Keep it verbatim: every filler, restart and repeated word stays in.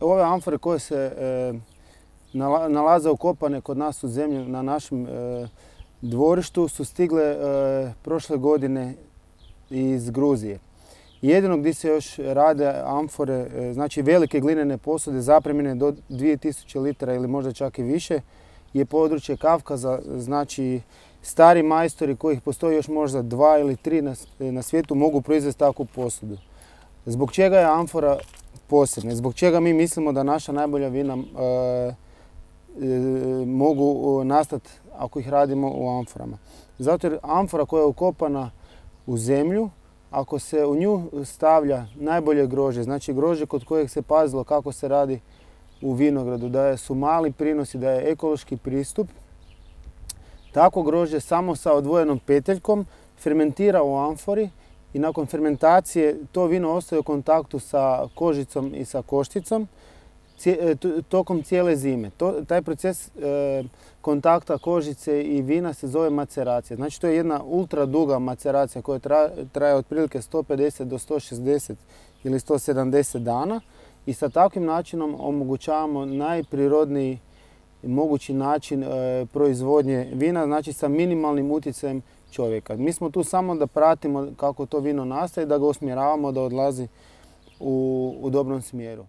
Ove amfore koje se e, nalaze ukopane kod nas u zemlju na našem e, dvorištu su stigle e, prošle godine iz Gruzije. Jedino gdje se još rade amfore, e, znači velike glinene posude zapremljene do dvije tisuće litara ili možda čak i više, je područje Kavkaza. Znači stari majstori kojih postoji još možda dva ili tri na, na svijetu mogu proizvesti takvu posudu. Zbog čega je amfora posebna? Zbog čega mi mislimo da naša najbolja vina e, e, mogu nastati ako ih radimo u amforama? Zato jer amfora koja je ukopana u zemlju, ako se u nju stavlja najbolje grožđe, znači grožđe kod kojeg se pazilo kako se radi u vinogradu, da su mali prinosi, da je ekološki pristup, tako grožđe samo sa odvojenom peteljkom fermentira u amfori i nakon fermentacije to vino ostaje u kontaktu sa kožicom i sa košticom tokom cijele zime. To, taj proces e, kontakta kožice i vina se zove maceracija. Znači to je jedna ultra duga maceracija koja traje, traje otprilike sto pedeset do sto šezdeset ili sto sedamdeset dana i sa takvim načinom omogućavamo najprirodniji mogući način e, proizvodnje vina, znači sa minimalnim utjecajem čovjeka. Mi smo tu samo da pratimo kako to vino nastaje, da ga usmjeravamo da odlazi u, u dobrom smjeru.